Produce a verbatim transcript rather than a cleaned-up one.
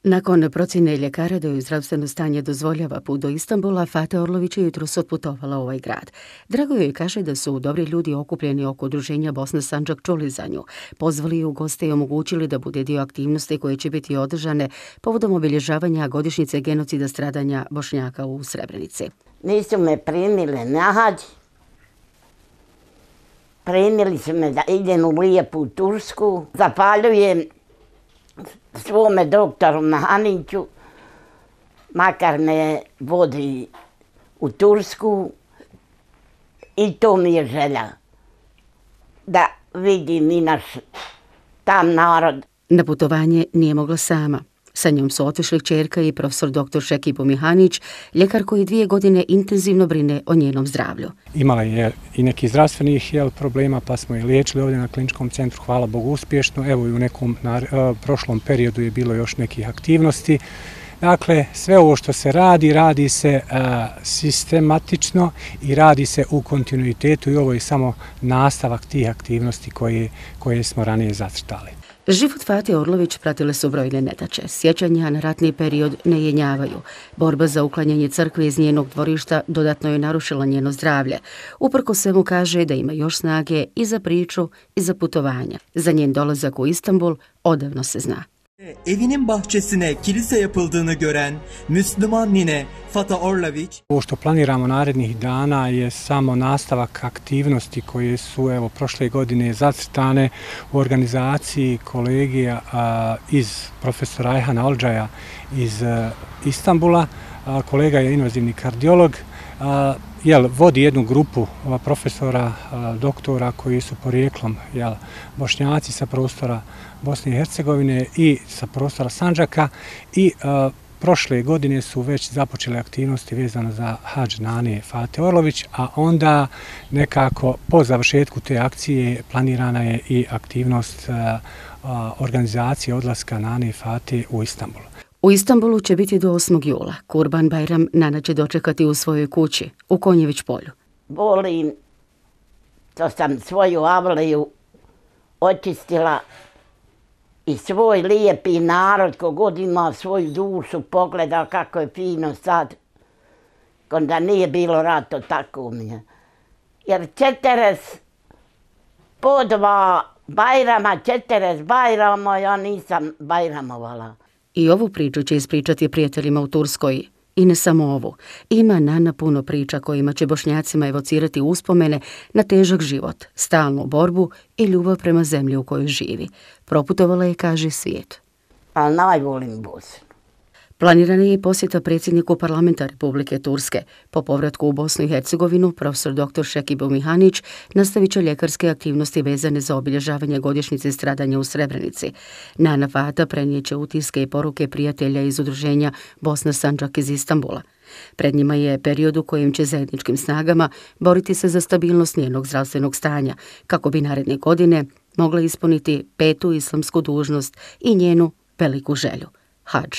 Nakon procjene ljekara da joj zdravstveno stanje dozvoljava put do Istanbula, Fate Orlović je jutros otputovala u ovaj grad. Drago joj kaže da su dobri ljudi okupljeni oko udruženja Bosna Sandžak čuli za nju, pozvali ju u goste i omogućili da bude dio aktivnosti koje će biti održane povodom obilježavanja godišnjice genocida stradanja Bošnjaka u Srebrenici. Nisu me primili na hađ. Primili su me da idem u lijepu Tursku. Zapaljujem svome doktoru Mahaniću, makar me vodi u Tursku, i to mi je želja, da vidim i naš tam narod. Na putovanje nije mogla sama. Sa njom su otišli kćerka i profesor doktor Šekibo Mihanić, ljekar koji dvije godine intenzivno brine o njenom zdravlju. Imala je i nekih zdravstvenih jel, problema, pa smo je liječili ovdje na kliničkom centru, hvala Bogu, uspješno. Evo i u nekom na, uh, prošlom periodu je bilo još nekih aktivnosti. Dakle, sve ovo što se radi, radi se uh, sistematično i radi se u kontinuitetu i ovo je samo nastavak tih aktivnosti koje, koje smo ranije zacrtali. Život Fate Orlović pratile su brojne nedaće. Sjećanja na ratni period ne jenjavaju. Borba za uklanjanje crkve iz njenog dvorišta dodatno je narušila njeno zdravlje. Uprko svemu kaže da ima još snage i za priču i za putovanja. Za njen dolazak u Istanbul odavno se zna. Evinin bahçesine kilise yapıldığını gören Müslüman nine Fate Orlović. Ovo što planiramo narednih dana je samo nastavak aktivnosti koje su evo prošle godine zacrtane u organizaciji kolegija a, iz profesora Ayhana Olcaja iz a, Istanbula. A, kolega je invazivni kardiolog. A, jel, vodi jednu grupu a, profesora, a, doktora koji su porijeklom jel, Bošnjaci sa prostora Bosne i Hercegovine i sa prostora Sandžaka i a, prošle godine su već započele aktivnosti vezano za hadž Nane Fate Orlović, a onda nekako po završetku te akcije planirana je i aktivnost a, a, organizacije odlaska Nane Fate u Istanbul. U Istanbulu će biti do osmog jula. Kurban Bajram Nana će dočekati u svojoj kući, u Konjević polju. Volim što sam svoju avliju očistila i svoj lijepi narod, kogod ima svoju dušu, pogleda kako je fino sad, kada nije bilo rato, tako mi je. Jer četeres po dva Bajrama, četeres Bajrama, ja nisam Bajramovala. I ovu priču će ispričati prijateljima u Turskoj. I ne samo ovu. Ima Nana puno priča kojima će Bošnjacima evocirati uspomene na težak život, stalnu borbu i ljubav prema zemlji u kojoj živi. Proputovala je, kaže, svijet. Ali najvolim Bosnu. Planirana je posjeta predsjedniku parlamenta Republike Turske. Po povratku u Bosnu i Hercegovinu, profesor doktor Šekibo Mihanić nastavit će ljekarske aktivnosti vezane za obilježavanje godišnjice stradanja u Srebrenici. Nana Fata prenijeće utiske i poruke prijatelja iz udruženja Bosna Sandžak iz Istanbula. Pred njima je period u kojem će zajedničkim snagama boriti se za stabilnost njenog zdravstvenog stanja, kako bi naredne godine mogla ispuniti petu islamsku dužnost i njenu veliku želju – hadž.